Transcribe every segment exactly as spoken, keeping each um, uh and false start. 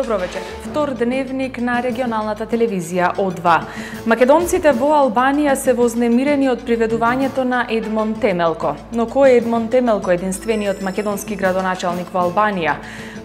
Добро вечер. Втор дневник на регионалната телевизија О два. Македонците во Албанија се вознемирени од приведувањето на Едмон Темелко. Но кој е Едмон Темелко, единствениот македонски градоначалник во Албанија?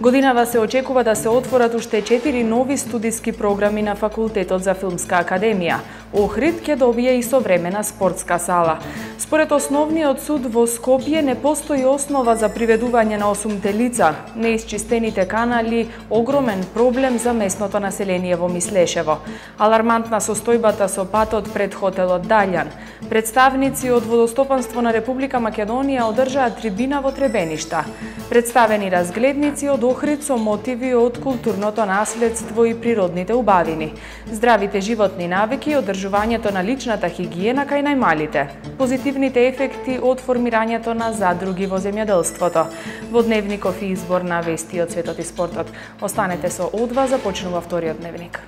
Годинава се очекува да се отворат уште четири нови студиски програми на Факултетот за филмска академија. Охрид ќе добие и современа спортска сала. Според основниот суд во Скопје не постои основа за приведување на осумте лица. Неисчистените канали огромен проблем за местното население во Мислешево. Алармантна состојбата со патот пред хотелот Далјан. Представници од Водостопанство на Република Македонија одржаа трибина во Требеништа. Представени разгледници од Охрид со мотиви од културното наследство и природните убавини. Здравите животни навики и одржувањето на личната хигиена кај најмалите. Позитивните ефекти од формирањето на задруги во земјоделството. Во дневников и избор на вести од светот и спортот. Останете со О два, започнува вториот дневник.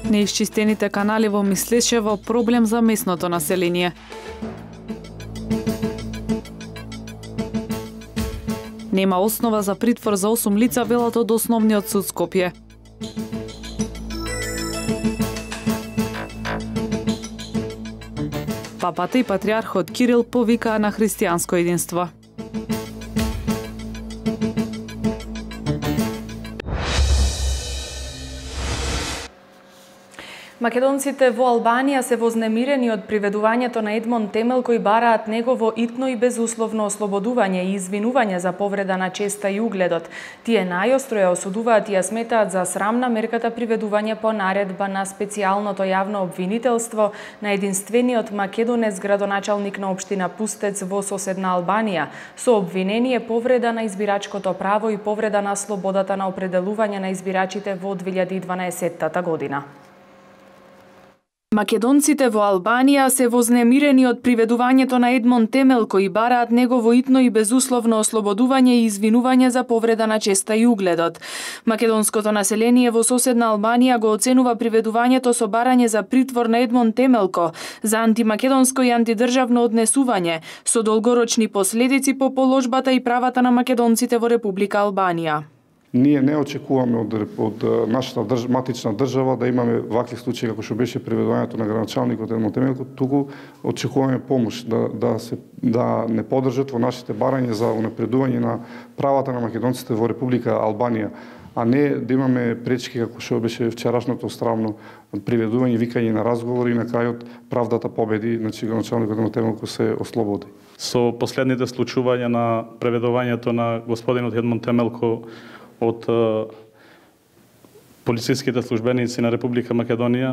Неисчистените канали во Мислешево проблем за местното население. Нема основа за притвор за осум лица, велат од Основниот суд Скопје. Папата и патриархот Кирил повикаа на христијанско единство. Македонците во Албанија се вознемирени од приведувањето на Едмон Темелко и бараат негово итно и безусловно ослободување и извинување за повреда на честа и угледот. Тие најостро ја осудуваат и ја сметаат за срамна мерката приведување по наредба на специјалното јавно обвинителство на единствениот македонец градоначалник на општина Пустец во соседна Албанија, со обвинение повреда на избирачкото право и повреда на слободата на определување на избирачите во две илјади и дванаесетта година. Македонците во Албанија се вознемирени од приведувањето на Едмон Темелко и бараат негово итно и безусловно ослободување и извинување за повреда на честа и угледот. Македонското население во соседна Албанија го оценува приведувањето со барање за притвор на Едмон Темелко за антимакедонско и антидржавно однесување со долгорочни последици по положбата и правата на македонците во Република Албанија. Ние не очекуваме од, од нашата држ, матична држава да имаме вакви случаи како што беше приведувањето на градоначалникот Едмон Темелко, туку очекуваме помош да да се да не поддржат во нашите барања за унапредување на правата на македонците во Република Албанија, а не да имаме пречки како што беше вчерашното стравно приведување, викање на разговори и на крајот правдата победи, значи градоначалникот Едмон Темелко се ослободи. Со последните случувања на преведувањето на господинот Едмон Темелко од полициските службеници на Република Македонија,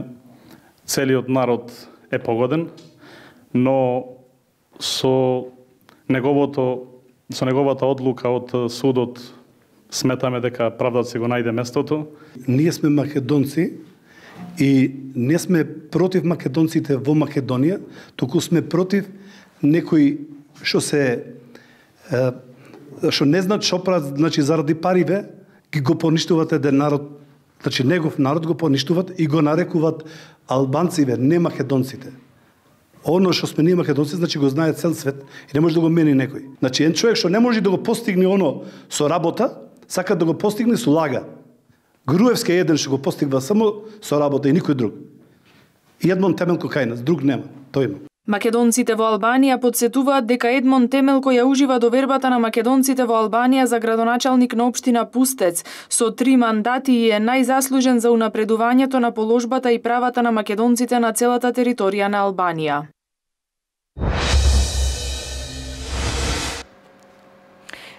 целиот народ е погоден, но со неговото со неговата одлука од судот сметаме дека правдата се го најде местото. Ние сме македонци и не сме против македонците во Македонија, туку сме против некои што се што не знаат што прават, значи заради париве ги го поништуваат еден народ, значи негов народ го поништуваат и го нарекуваат албанциве, не македонците. Оно што сме ние македонци, значи го знае цел свет и не може да го мени некој. Значи еден човек што не може да го постигне оно со работа, сака да го постигне со лага. Груевски е еден што го постигва само со работа и никој друг. И Едмон Темелко кај нас, друг нема, тој има. Македонците во Албанија подсетуваат дека Едмон Темелко ја ужива довербата на македонците во Албанија за градоначалник на општина Пустец со три мандати и е најзаслужен за унапредувањето на положбата и правата на македонците на целата територија на Албанија.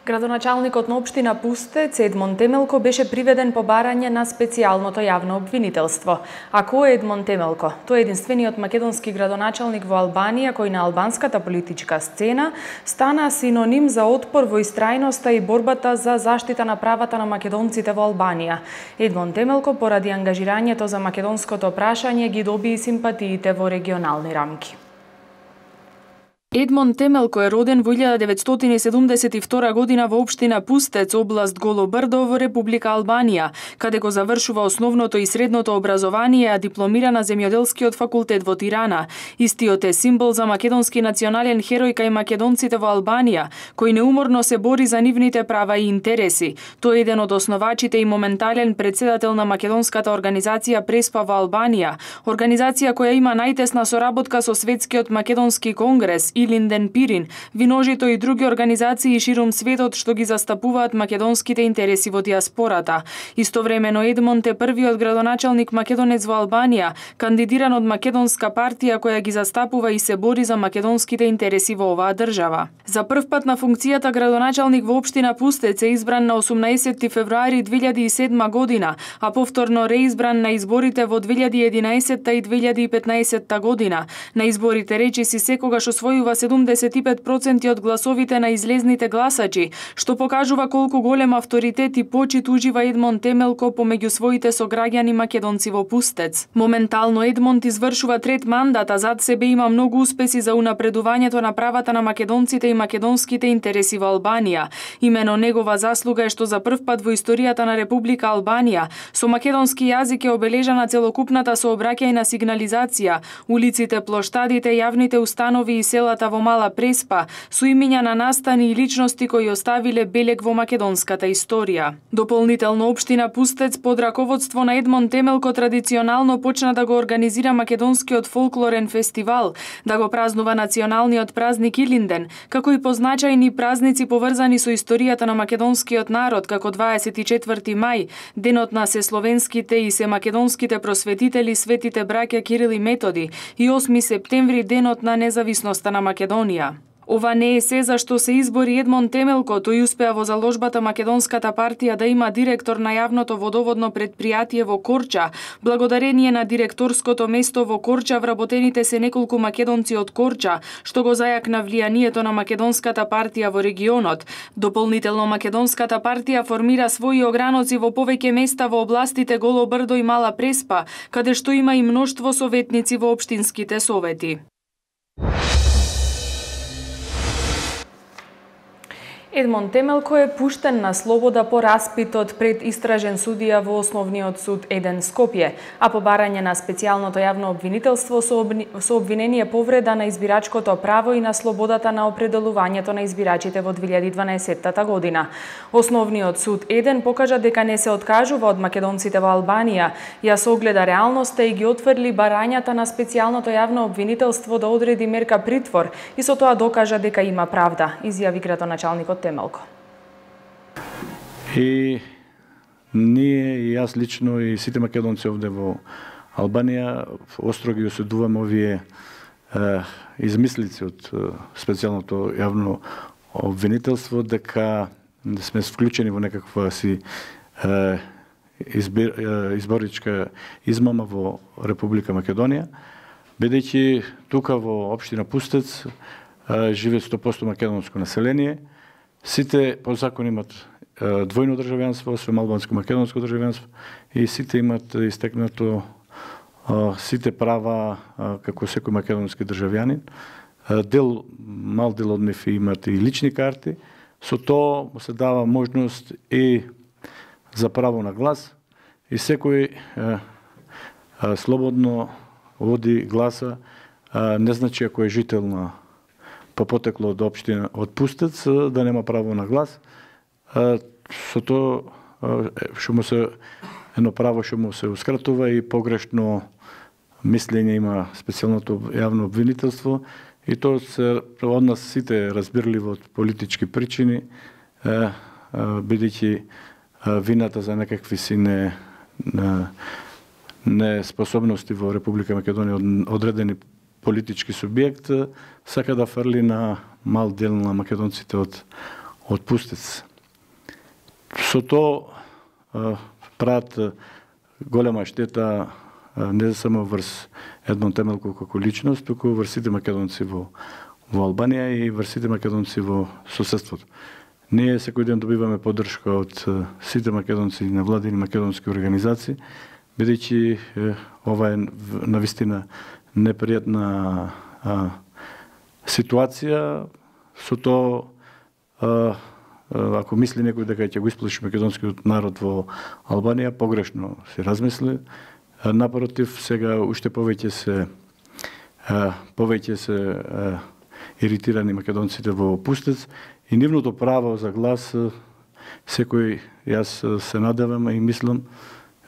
Градоначалникот на општина Пустец Едмон Темелко беше приведен по барање на специјалното јавно обвинителство. А кој е Едмон Темелко? Тој е единствениот македонски градоначалник во Албанија кој на албанската политичка сцена стана синоним за отпор во истрајноста и борбата за заштита на правата на македонците во Албанија. Едмон Темелко поради ангажирањето за македонското прашање ги доби и симпатиите во регионални рамки. Едмон Темелко е роден во илјада деветстотини и седумдесет и втора година во општина Пустец, област Голо Брдо во Република Албанија, каде го завршува основното и средното образование, а дипломира на земјоделскиот факултет во Тирана. Истиот е символ за македонски национален херој кај македонците во Албанија, кој неуморно се бори за нивните права и интереси. Тој е еден од основачите и моментален председател на македонската организација Преспа во Албанија, организација која има најтесна соработка со Светскиот македонски конгрес и Линден Пирин, Виножито и други организации ширум светот што ги застапуваат македонските интереси во диаспората. Истовремено Едмонд е првиот градоначалник македонец во Албанија, кандидиран од македонска партија која ги застапува и се бори за македонските интереси во оваа држава. За прв пат на функцијата градоначалник во општина Пустец е избран на осумнаесетти февруари две илјади и седма година, а повторно реизбран на изборите во две илјади и единаесетта и две илјади и петнаесетта година. На изборите речиси секогаш освојува седумдесет и пет проценти од гласовите на излезните гласачи, што покажува колку голем авторитет и почит ужива Едмон Темелко помеѓу своите сограѓани македонци во Пустец. Моментално Едмонд извршува трет мандат, а зад себе има многу успеси за унапредувањето на правата на македонците и македонските интереси во Албанија. Имено негова заслуга е што за прв пат во историјата на Република Албанија со македонски јазик е обележана целокупната сообраќајна сигнализација, улиците, плоштадите, јавните установи и селата во Мала Преспа, со имиња на настани и личности кои оставиле белег во македонската историја. Дополнително општина Пустец под раководство на Едмон Темелко традиционално почна да го организира македонскиот фолклорен фестивал, да го празнува националниот празник Илинден, како и позначајни празници поврзани со историјата на македонскиот народ, како дваесет и четврти мај, денот на сесловенските и семакедонските просветители светите браќа Кирил и Методи, и осми септември денот на независноста на Македонија. Ова не е се за што се избори Едмон Темелко, тој успеа во заложбата Македонската партија да има директор на јавното водоводно предпријатие во Корча. Благодарение на директорското место во Корча вработените се неколку македонци од Корча, што го зајакна влијанието на Македонската партија во регионот. Дополнително Македонската партија формира своји ограноци во повеќе места во областите Голо Брдо и Мала Преспа, каде што има и мноштво советници во општинските совети. Едмон Темелко е пуштен на слобода по распитот пред истражен судија во Основниот суд еден Скопје, а по барање на специјалното јавно обвинителство со, обни... со обвинение повреда на избирачкото право и на слободата на определувањето на избирачите во две илјади и дванаесетта година. Основниот суд еден покажа дека не се откажува од македонците во Албанија, ја согледа реалноста и ги отфрли барањата на специјалното јавно обвинителство да одреди мерка притвор и со тоа докажа дека има правда, изјави градоначалникот Темелко. И ние, и јас лично, и сите македонци овде во Албанија остро ги осудуваме овие е, измислици од е, специјалното јавно обвинителство дека сме вклучени во некаква си е, избир, е, изборичка измама во Република Македонија, бидејќи тука во општина Пустец е, живе сто проценти македонско население. Сите по закон имат е, двојно државјанство, освен албанско-македонско државјанство, и сите имат истекнато е, сите права е, како секој македонски државјанин. Е, дел, мал дел од нив имат и лични карти, со тоа се дава можност и за право на глас, и секој е, е, слободно води гласа, е, не значи ако е жител на по потекло од општина од Пустец да нема право на глас. Со тоа што му се едно право што му сеускратува и погрешно мислење има специјалното јавно обвинителство, и тоа се од нас сите разбирливо од политички причини, бидејќи вината за некакви си не неспособности во Република Македонија од одредени политички субјект сака да фрли на мал дел на македонците од, од Пустец. Со тоа прават голема штета не само врз Едмон Темелко како личност, туку врз сите македонци во, во Албанија и врз сите македонци во соседството. Ние секој ден добиваме поддршка од сите македонци и невладини македонски организации, бидејќи ова е навистина непријатна а, ситуација со тоа, ако мисли некој дека ќе го исплаши македонскиот народ во Албанија, погрешно се размисли. Напротив, сега уште повеќе се повеќе се иритирани македонците во Пустец и нивното право за глас секој, јас се надевам и мислам,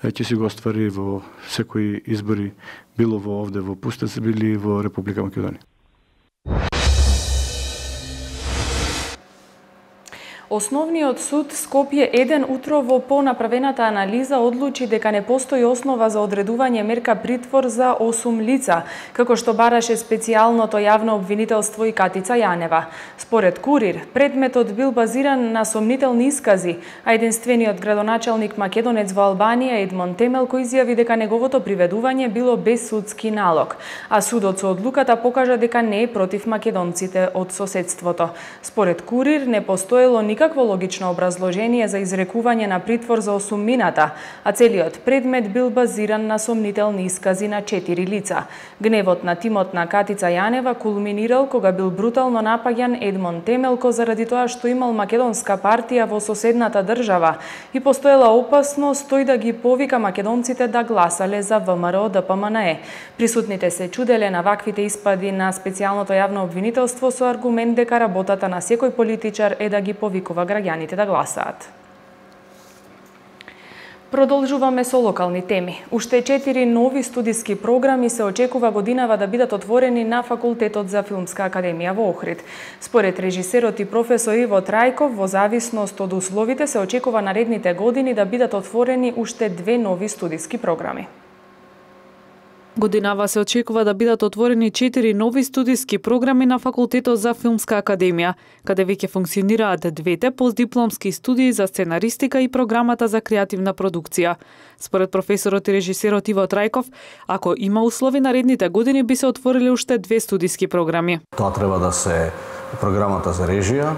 ќе си го оствари во секои избори, било во овде во Пустец, били во Република Македонија. Основниот суд Скопје еден утрово по направената анализа одлучи дека не постои основа за одредување мерка притвор за осум лица, како што бараше специјалното јавно обвинителство и Катица Јанева. Според Курир, предметот бил базиран на сомнителни искази, а единствениот градоначалник македонец во Албанија Едмон Темелко изјави дека неговото приведување било без судски налог, а судот со одлуката покажа дека не е против македонците од соседството. Според Курир не постоело никакво логично образложение за изрекување на притвор за осумината, а целиот предмет бил базиран на сомнителни искази на четири лица. Гневот на тимот на Катица Јанева кулминирал кога бил брутално напаѓан Едмон Темелко заради тоа што имал македонска партија во соседната држава и постоела опасност тој да ги повика македонците да гласале за ВМРО Д П М Н Е. Присутните се чуделе на ваквите испади на специјалното јавно обвинителство со аргумент дека работата на секој политичар е да ги повика граѓаните да гласаат. Продолжуваме со локални теми. Уште четири нови студиски програми се очекува годинава да бидат отворени на Факултетот за филмска академија во Охрид. Според режисерот и професор Иво Трајков, во зависност од условите се очекува наредните години да бидат отворени уште две нови студиски програми. Годинава се очекува да бидат отворени четири нови студиски програми на Факултетот за филмска академија, каде веќе функционираат двете постдипломски студии за сценаристика и програмата за креативна продукција. Според професорот и режисерот Иво Трајков, ако има услови наредните години би се отворили уште две студиски програми. Тоа треба да се програмата за режија,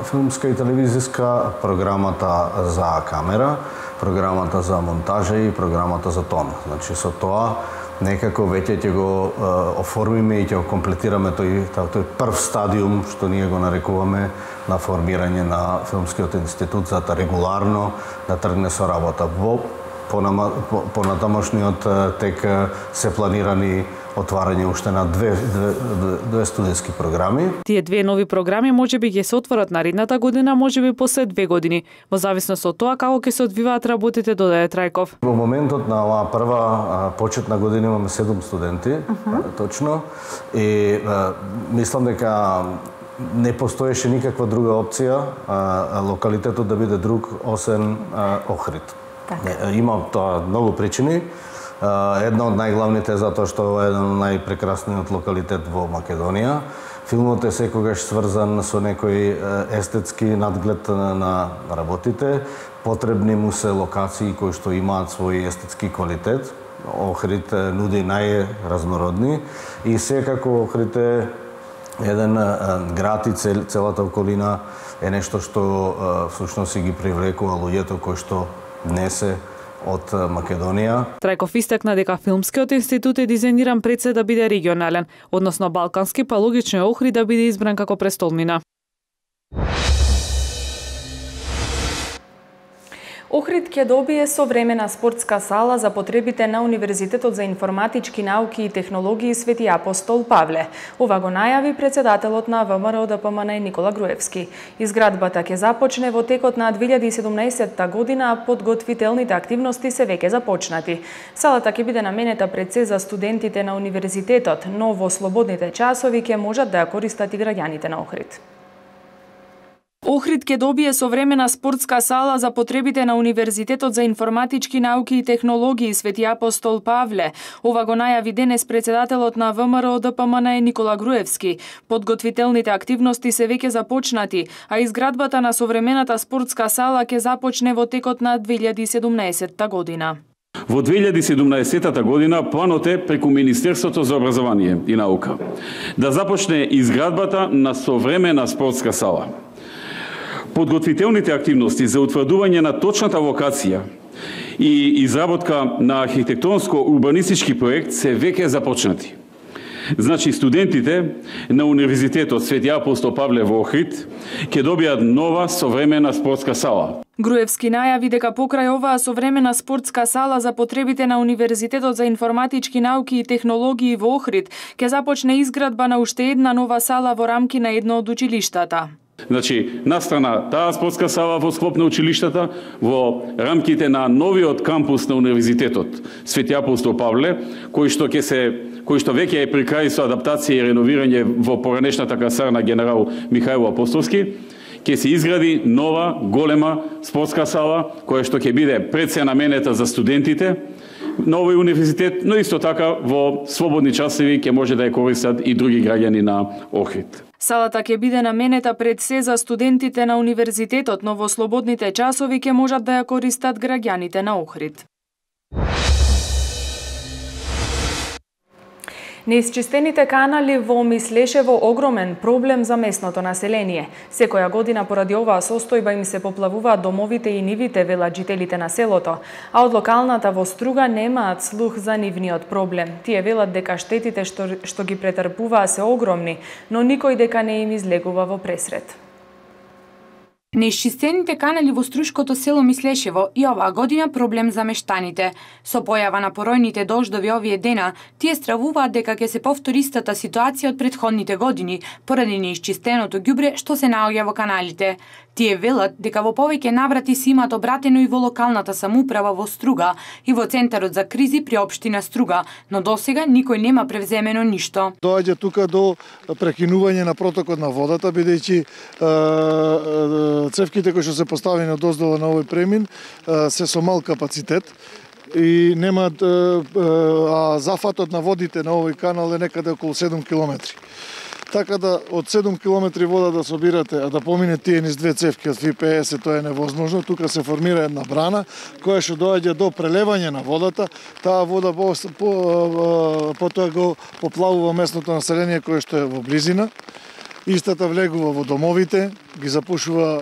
филмска и телевизиска, програмата за камера, програмата за монтажа и програмата за тон. Значи со тоа некако веќе ќе го оформиме и ќе го комплетираме тој, тој прв стадиум што ние го нарекуваме на формирање на Филмскиот институт за да регуларно да тргне со работа. Во понатамошниот тек се планирани отварање уште на две, две, две студиски програми. Тие две нови програми можеби ќе се отворат наредната година, можеби после две години, во зависност од тоа како ќе се одвиваат работите, додаде Трајков. Во моментот на оваа прва почетна година имаме седум студенти, uh-huh. точно, и мислам дека не постоеше никаква друга опција а, локалитетот да биде друг освен Охрид. Так. Има тоа многу причини. Една од најглавните е затоа што е еден од најпрекрасниот локалитет во Македонија. Филмот е секогаш сврзан со некој естетски надглед на работите. Потребни му се локации кои што имаат свој естетски квалитет. Охрид нуди најразнородни и секако Охрид е еден град и цел, целата околина е нешто што всушност си ги привлекува луѓето кои што не се од Македонија. Трајков истакна дека Филмскиот институт е дизајниран пред се да биде регионален, односно балкански, па логично е Охрид да биде избран како престолнина. Охрид ќе добие современа спортска сала за потребите на Универзитетот за информатички науки и технологии Свети Апостол Павле. Ова го најави председателот на ВМРО Д П М Н Е Никола Груевски. Изградбата ќе започне во текот на две илјади и седумнаесетта година, а подготвителните активности се веќе започнати. Салата ќе биде наменета пред се за студентите на универзитетот, но во слободните часови ќе можат да ја користат и граѓаните на Охрид. Охрид ќе добие современа спортска сала за потребите на Универзитетот за информатички науки и технологии Свети Апостол Павле. Ова го најави денес председателот на ВМРО Д П М Н Е Никола Груевски. Подготвителните активности се веќе започнати, а изградбата на современата спортска сала ќе започне во текот на две илјади и седумнаесетта година. Во две илјади и седумнаесетта година планот е преку Министерството за образование и наука да започне изградбата на современа спортска сала. Подготвителните активности за утврдување на точната локација и изработка на архитектонско-урбанистички проект се веќе започнати. Значи, студентите на Универзитетот Свети Апостол Павле во Охрид ќе добијат нова современа спортска сала. Груевски најави дека покрај оваа современа спортска сала за потребите на Универзитетот за информатички науки и технологии во Охрид ќе започне изградба на уште една нова сала во рамки на едно од училиштата. Значи, настрана таа спортска сала во склоп на училиштата, во рамките на новиот кампус на Универзитетот Свети Апостол Павле, кој што ќе се кој што веќе е при крај со адаптација и реновирање во поранешната касарна генерал Михаил Апостолски, ќе се изгради нова, голема спортска сала, која што ќе биде пред се наменета за студентите на овој универзитет, но исто така во слободни часови ќе може да ја користат и други граѓани на Охрид. Салата ќе биде наменета пред се за студентите на универзитетот, но во слободните часови ќе можат да ја користат граѓаните на Охрид. Неисчистените канали во Мислешево огромен проблем за местното население. Секоја година поради оваа состојба им се поплавуваат домовите и нивите, велат жителите на селото, а од локалната во Струга немаат слух за нивниот проблем. Тие велат дека штетите што, што ги претрпуваа се огромни, но никој дека не им излегува во пресрет. Неисчистените канали во струшкото село Мислешево и оваа година проблем за мештаните. Со појава на поројните дождови овие дена, тие стравуваат дека ќе се повтори истата ситуација од претходните години, поради неисчистеното ѓубре што се наоѓа во каналите. Тие велат дека во повеќе наврати се имаат обратено и во локалната самоуправа во Струга и во Центарот за кризи при општина Струга, но досега никој нема превземено ништо. Доаѓа тука до прекинување на протокот на водата, бидејќи цевките кои што се поставени од оздола на овој премин се со мал капацитет и немаат, а зафатот на водите на овој канал е некаде околу седум километри. Така да од седум километри вода да собирате, а да помине тие низ две цевки од Ф П С, тоа е невозможно. Тука се формира една брана која што доаѓа до прелевање на водата. Таа вода по, по, потоа го поплавува местното население кое што е во близина. Истата влегува во домовите, ги запушува,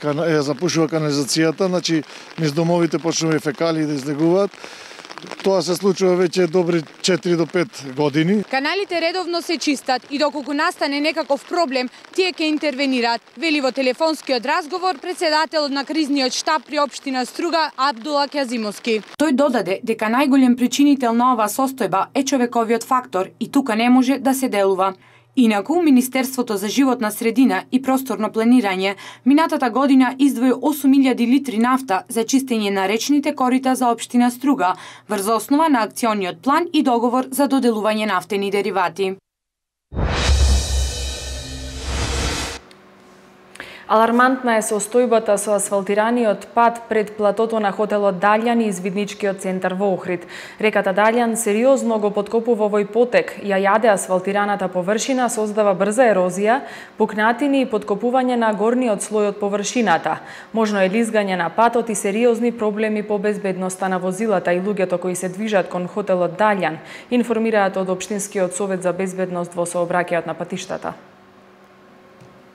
ја запушува канализацијата, значи низ домовите почнува и фекалии да излегуваат. Тоа се случува веќе добри четири до пет години. Каналите редовно се чистат и доколку настане некаков проблем, тие ќе интервенираат, вели во телефонскиот разговор председателот на кризниот штаб при општина Струга Абдула Кјазимовски. Тој додаде дека најголем причинител на оваа состојба е човековиот фактор и тука не може да се делува. Инаку, Министерството за животна средина и просторно планирање минатата година издвои осум илјади литри нафта за чистење на речните корита за општина Струга, врз основа на акциониот план и договор за доделување нафтени деривати. Алармантна е состојбата со асфалтираниот пат пред платото на хотелот Далјан и извидничкиот центар во Охрид. Реката Далјан сериозно го поткопува овој потек, ја јаде асфалтираната површина, создава брза ерозија, пукнатини и поткопување на горниот слој од површината. Можно е лизгање на патот и сериозни проблеми по безбедноста на возилата и луѓето кои се движат кон хотелот Далјан, информираат од Општинскиот совет за безбедност во сообраќајот на патиштата.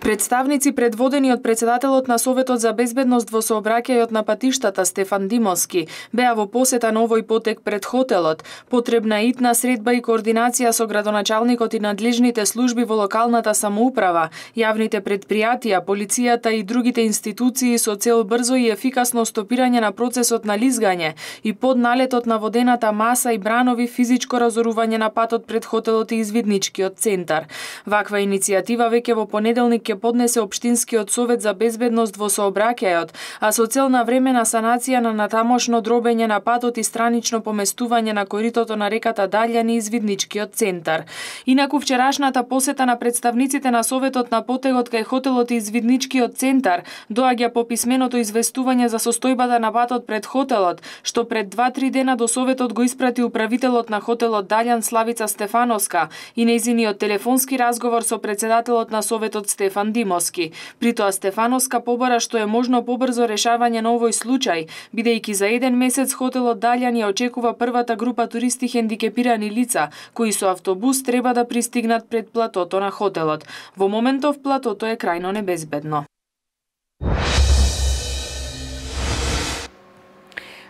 Представници предводени од председателот на Советот за безбедност во сообраќајот на патиштата Стефан Димовски беа во посета на овој потек пред хотелот. Потребна е итна средба и координација со градоначалникот и надлежните служби во локалната самоуправа, јавните предпријатија, полицијата и другите институции со цел брзо и ефикасно стопирање на процесот на лизгање и под налетот на водената маса и бранови физичко разорување на патот пред хотелот и извидничкиот центар. Ваква иницијатива веќе во понеделник ќе поднесе Општинскиот совет за безбедност во сообраќајот, а со цел на времена санација на натамошно дробење на патот и странично поместување на коритото на реката Далјан и извидничкиот центар. Инаку вчерашната посета на представниците на Советот на потегот кај хотелот и извидничкиот центар доаѓа по писменото известување за состојбата на патот пред хотелот, што пред два-три дена до Советот го испрати управителот на хотелот Далјан Славица Стефановска и нејзиниот телефонски разговор со председателот на Советот Стефан Димовски. При тоа Стефановска побара што е можно побрзо решавање на овој случај, бидејќи за еден месец хотелот Далјан ја очекува првата група туристи хендикепирани лица, кои со автобус треба да пристигнат пред платото на хотелот. Во моментов платото е крајно небезбедно.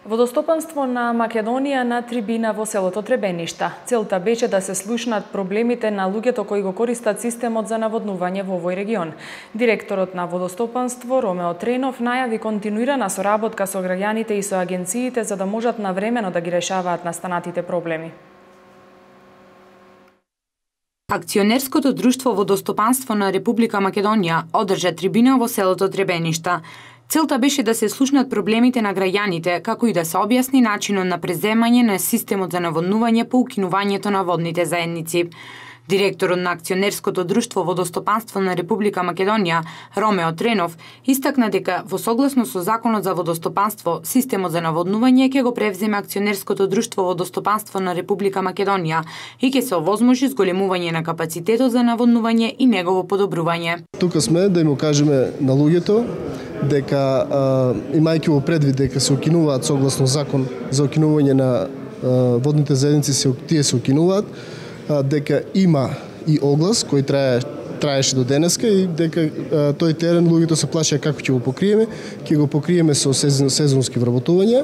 Водостопанство на Македонија на трибина во селото Требеништа. Целта беше да се слушнат проблемите на луѓето кои го користат системот за наводнување во овој регион. Директорот на водостопанство Ромео Тренов најави континуирана соработка со граѓаните и со агенциите за да можат навремено да ги решаваат настанатите проблеми. Акционерското друштво Водостопанство на Република Македонија одржа трибина во селото Требеништа. Целта беше да се слушнат проблемите на граѓаните, како и да се објасни начинот на преземање на системот за наводнување по укинувањето на водните заедници. Директорот на Акционерското друштво Водостопанство на Република Македонија, Ромео Тренов, истакна дека во согласно со Законот за водостопанство, системот за наводнување ќе го превземе Акционерското друштво Водостопанство на Република Македонија и ќе се овозможи зголемување на капацитетот за наводнување и негово подобрување. Тука сме да им кажеме на луѓето дека имајќи во предвид дека се укинуваат согласно закон за укинување на водните заедници, се тие се укинуваат, дека има и оглас кој трае траеше до денеска и дека тој терен луѓето се плашеа како ќе го покриеме, ќе го покриеме со сезонски вработувања.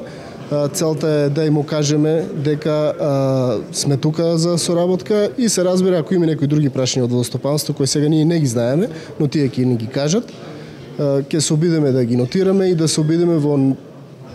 Целта е да им кажеме дека а, сме тука за соработка и се разбира ако има некои други прашања од водостопанство кои сега ние не ги знаеме, но тие ќе ни ги кажат, ќе се обидеме да ги нотираме и да се обидеме во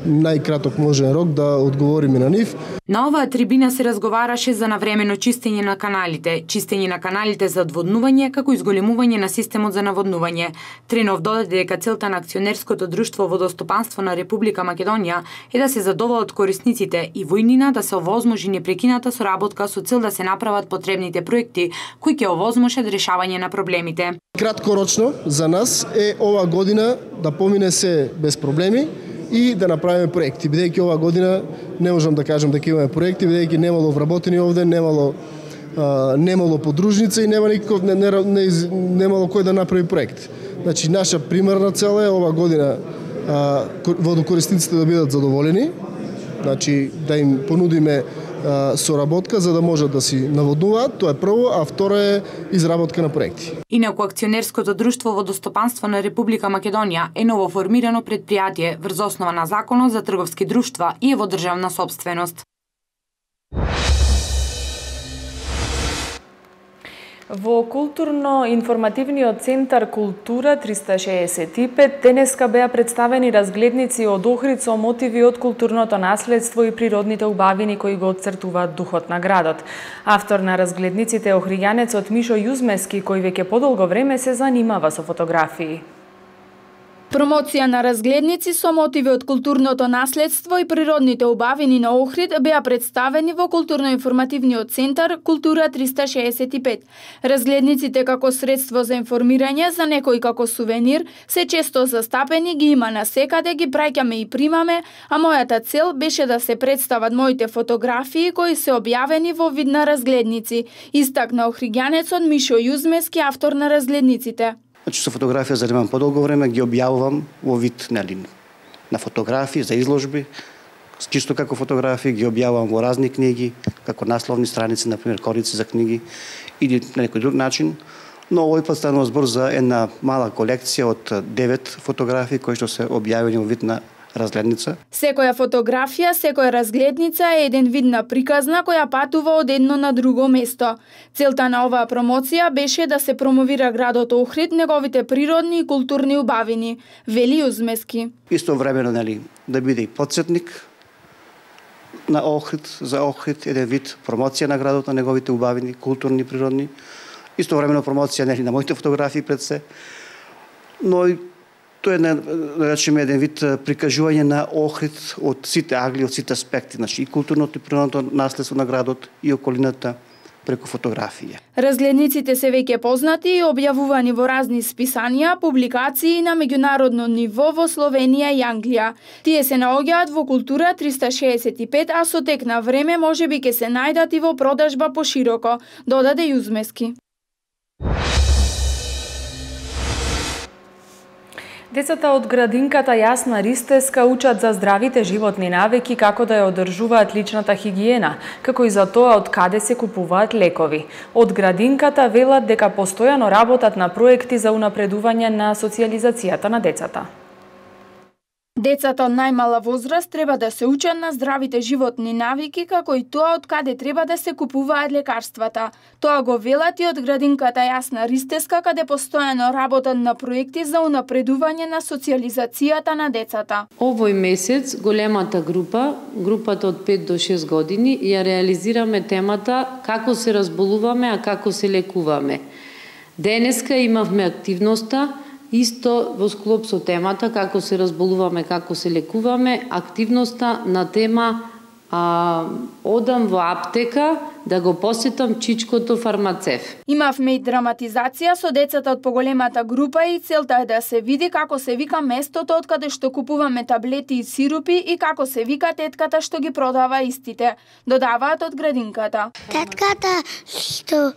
најкраток можен рок да одговориме на нив. На оваа трибина се разговараше за навремено чистење на каналите, чистење на каналите за одводнување, како и зголемување на системот за наводнување. Тренов додаде дека целта на Акционерското друштво Водостопанство на Република Македонија е да се задоволат корисниците и во иднина да се овозможи непрекината соработка со цел да се направат потребните проекти кои ќе овозможат решавање на проблемите. Краткорочно за нас е ова година да помине се без проблеми и да направиме проекти. Бидејќи ова година не можам да кажам дека имаме проекти, бидејќи немало вработени овде, немало а, немало подружница и нема никаков не, не, не, немало кој да направи проект. Значи наша примерна цел е ова година а, водокорисниците да бидат задоволени, значи да им понудиме соработка за да можат да си наводнуваат, тоа е прво, а второ е изработка на проекти. Инаку Акционерското друштво Водостопанство на Република Македонија е новоформирано предпријатие врз основа на Законот за трговски друштва и е во државна сопственост. Во културно-информативниот центар Култура триста шеесет и пет денеска беа представени разгледници од Охрид со мотиви од културното наследство и природните убавини кои го отцртуваат духот на градот. Автор на разгледниците е охриѓанецот Мишо Јузмески, кој веќе подолго време се занимава со фотографии. Промоција на разгледници со мотиви од културното наследство и природните убавини на Охрид беа представени во културно-информативниот центар Култура триста шеесет и пет. Разгледниците како средство за информирање за некој како сувенир се често застапени, ги има насекаде, ги праќаме и примаме, а мојата цел беше да се представат моите фотографии кои се објавени во вид на разгледници, истакна охриѓанецот Мишо Јузмески, автор на разгледниците. Значи со фотографија занимавам подолго време, ги објавувам во вид нели на фотографии за изложби, чисто како фотографии ги објавувам во разни книги, како насловни страници, например корици за книги или на некој друг начин. Но овој пат станува збор за една мала колекција од девет фотографии кои што се објавени во вид на разгледница. Секоја фотографија, секоја разгледница е еден вид на приказна која патува од едно на друго место. Целта на оваа промоција беше да се промовира градот Охрид, неговите природни и културни убавини, вели Јузмески. Истовремено нели да биде и потсетник на Охрид, за Охрид, еден вид промоција на градот, на неговите убавини, културни и природни. Истовремено промоција нели на моите фотографии пред се. Но и тоа е, да речеме, еден вид прикажување на Охрид од сите агли, од сите аспекти, значи и културното и природното наследство на градот и околината преку фотографија. Разгледниците се веќе познати и објавувани во разни списанија, публикации на меѓународно ниво во Словенија и Англија. Тие се наоѓаат во Култура триста шеесет и пет, а со тек на време можеби ќе се најдат и во продажба пошироко, додаде Јузмески. Децата од градинката Јасна Ристеска учат за здравите животни навики, како да ја одржуваат личната хигиена, како и за тоа од каде се купуваат лекови. Од градинката велат дека постојано работат на проекти за унапредување на социјализацијата на децата. Децата од најмала возраст треба да се учат на здравите животни навики, како и тоа од каде треба да се купуваат лекарствата. Тоа го велат и од градинката Јасна Ристеска, каде постојано работат на проекти за унапредување на социјализацијата на децата. Овој месец големата група, групата од пет до шест години, ја реализираме темата како се разболуваме, а како се лекуваме. Денеска имавме активноста исто во склоп со темата како се разболуваме, како се лекуваме, активноста на тема а, одам во аптека да го посетам чичкото фармацев. Имавме и драматизација со децата од поголемата група и целта е да се види како се вика местото од каде што купуваме таблети и сирупи и како се вика тетката што ги продава истите. Додаваат од градинката. Тетката што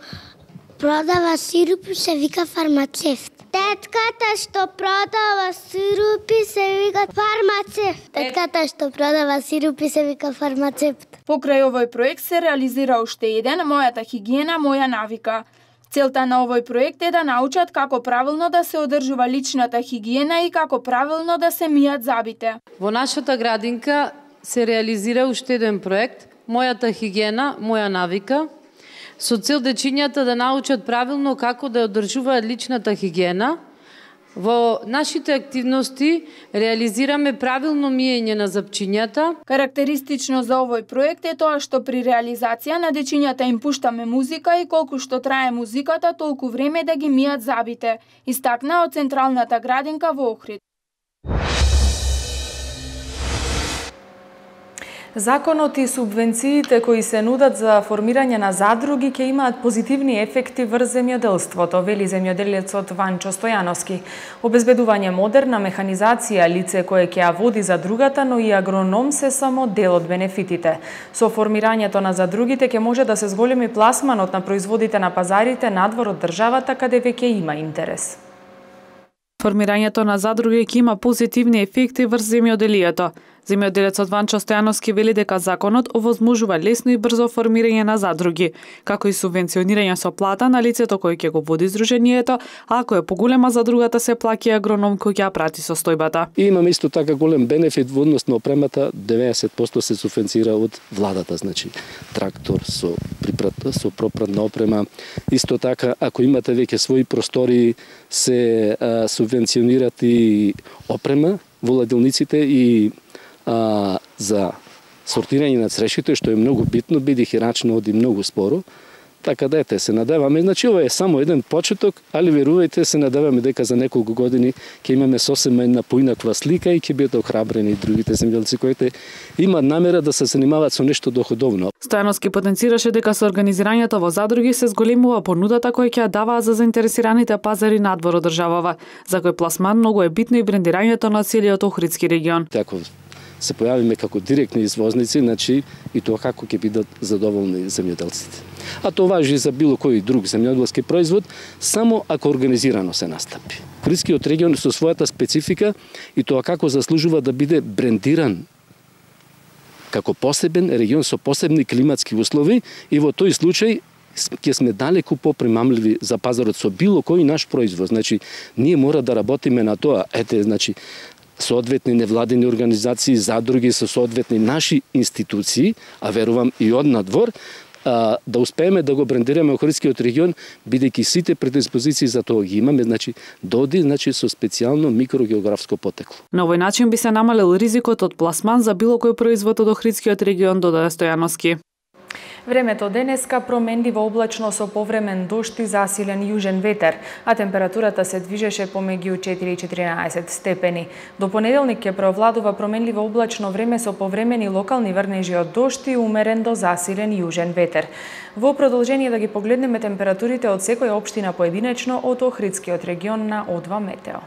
продава сирупи се вика фармацевт. Тетката што продава сирупи се вика фармацевт. Тетката што продава сирупи се вика фармацевт. Покрај овој проект се реализира уште еден, мојата хигиена, моја навика. Целта на овој проект е да научат како правилно да се одржува личната хигиена и како правилно да се мијат забите. Во нашата градинка се реализира уште еден проект, мојата хигиена, моја навика, со цел дечињата да научат правилно како да одржуваат личната хигиена. Во нашите активности реализираме правилно миење на запчињата. Карактеристично за овој проект е тоа што при реализација на дечињата им пуштаме музика и колку што трае музиката, толку време да ги мијат забите, истакна од Централната градинка во Охрид. Законот и субвенциите кои се нудат за формирање на задруги ќе имаат позитивни ефекти врз земјоделството, вели земјоделецот Ванчо Стојановски. Обезбедување модерна механизација, лице кое ќе ја води задругата, но и агроном се само дел од бенефитите. Со формирањето на задругите ќе може да се зголеми пласманот на производите на пазарите надвор од државата каде веќе има интерес. Формирањето на задруги ќе има позитивни ефекти врз земјоделието. Земјоделецот Ванчо Стојановски вели дека законот овозможува лесно и брзо формирање на задруги, како и субвенционирање со плата на лицето кој ќе го води здруженијето, а ако е поголема задругата се плаќа агроном кој ќе ја прати состојбата. И имаме исто така голем бенефит во однос на опремата, деветдесет проценти се субвенцира од владата, значи трактор со припрата, со пропратна опрема. Исто така, ако имате веќе своји простори, се а, субвенционират и опрема во ладилниците и а, за сортирање на црешите, што е многу битно, бидејќи рачно оди многу споро. Така да ете, се надеваме, значи ова е само еден почеток, али верувајте, се надеваме дека за неколку години ќе имаме сосема една поинаква слика и ќе бидат охрабрени другите земјоделци кои имаат намера да се занимаваат со нешто доходовно. Стојановски потенцираше дека со организирањето во задруги се зголемува понудата која ќе ја даваа за заинтересираните пазари надвор од државава, за кој пласман многу е битно и брендирањето на целиот Охридски регион. Тако се појавиме како директни извозници, значи и тоа како ќе бидат задоволни земјоделците. А тоа важи и за било кој друг земјоделски производ, само ако организирано се настапи. Охридскиот регион со својата специфика и тоа како заслужува да биде брендиран како посебен регион со посебни климатски услови и во тој случај ќе сме далеку попримамливи за пазарот со било кој наш производ. Значи, ние мора да работиме на тоа. Ете, значи, соодветни невладени организации, задруги со соодветни наши институции, а верувам и од надвор, а, да успееме да го брендираме Охридскиот регион, бидејќи сите предиспозиции за тоа ги имаме, значи доди значи со специјално микрогеографско потекло. На овој начин би се намалил ризикот од пласман за било кој производ од Охридскиот регион, додаде Стојановски. Времето денеска променливо облачно со повремен дожд и засилен јужен ветер, а температурата се движеше помеѓу четири и четиринаесет степени. До понеделник ќе преовладува променливо облачно време со повремени локални врнежи од дожд и умерен до засилен јужен ветер. Во продолжение да ги погледнеме температурите од секоја општина поединечно од Охридскиот регион на О два Метео.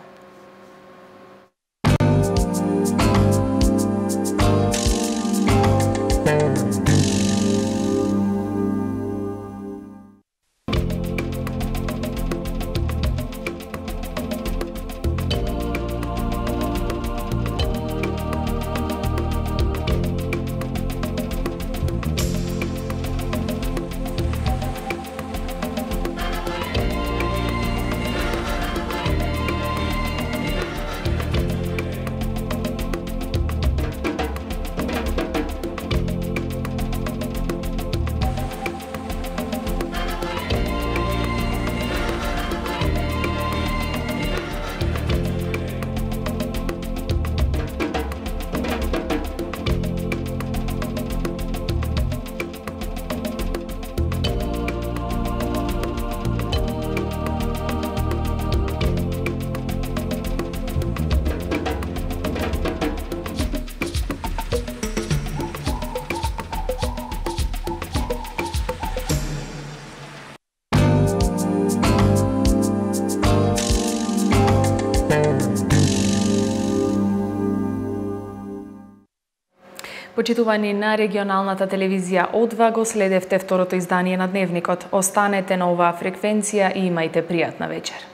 почитувани на регионалната телевизија О два, го следевте второто издание на Дневникот. Останете на оваа фреквенција и имајте пријатна вечер.